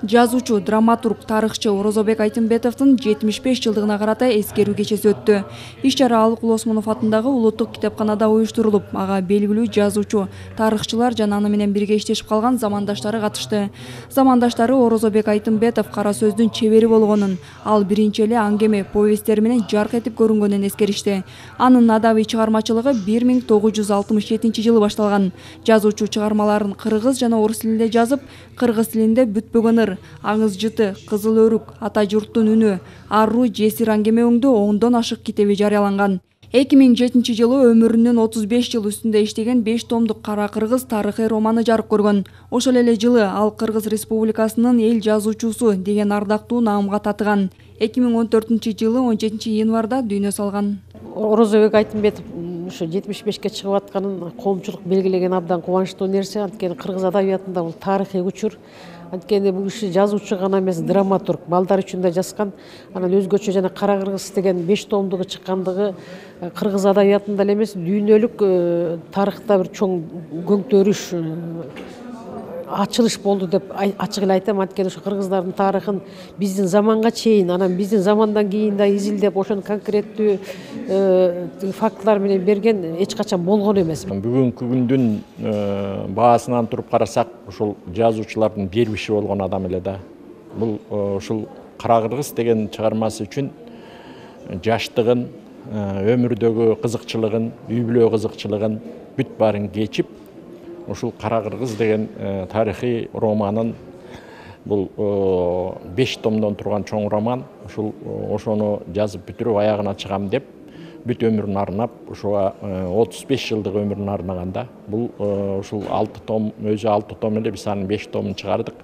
Жазуучу, драматург, тарыхчы Орозобек Айтымбетовдун 75 жылдыгына карата эскерүү кечеси өттү. Иш-чара Алык Осмонов атындагы Улуттук китепканада уюштурулуп, ага белгилүү жазуучу, тарыхчылар жана аны менен бирге иштешип калган замандаштары катышты. Замандаштары Орозобек Айтымбетов кара сөздүн чебери болгонун, ал биринчи эле аңгеме, повесттери менен жарк этип көрүнгөнүн эскеришти. Анын адабий чыгармачылыгы 1967 жылы башталган. Жазуучу чыгармаларын кыргыз жана орус тилинде жазып, кыргыз тилинде Бүтпөгөн ыр, Аңыз жыты, Кызыл өрүк, Ата журттун үнү, Аруу жесир аңгеме өңдүү 10дон ашык китеби жарыяланган. 2007 жылы өмүрүнүн 35 жыл үстүндө иштеген 5 томдук Кара кыргыз тарыхый романы жарык көргөн. Ошол эле жылы ал Кыргыз Республикасынын эл жазуучусу деген ардактуу наамга татыган. 2014 жылы 17 январда дүйнө салган. Орозобек Айтымбетов ушу 75ке чыгып атканын коомчулук белгилеген абдан кубанычтуу нерсе. Анткени кыргыз адабиятында бул тарыхый учур. Анткени бул киши жазуучу гана эмес, драматург, балдар үчүн да жазган. Анан өзгөчө жана Кара кыргыз деген 5 томдугу чыккандыгы кыргыз адабиятында эле эмес, дүйнөлүк тарыхта бир чоң көңтөрүш, ачылыш болду деп ачык эле айтам. Анткени ушу кыргыздардын тарыхын биздин заманга чейин, анан биздин замандан кийин да изилдеп, ошону конкреттүү фактылар менен берген эч качан болгон эмес. Бүгүнкү күндүн баасынан туруп карасак, ушул жазуучулардын бербиши болгон адам эле да. Бул ушул Кара кыргыз деген чыгармасы үчүн жаштыгын, өмүрдөгү кызыкчылыгын, үй бүлө кызыкчылыгын бүт баарын кечип, ушул Кара кыргыз деген тарыхый романын, бул 5 томдон турган чоң роман, ошону жазып бүтүрүп аягына чыгам деп бүт өмүрүн арнап, ошого 35 жылдык өмүрүн арнаганда, бул ушул 6 том, өзү 6 том эле, биз анын 5 томун чыгардык.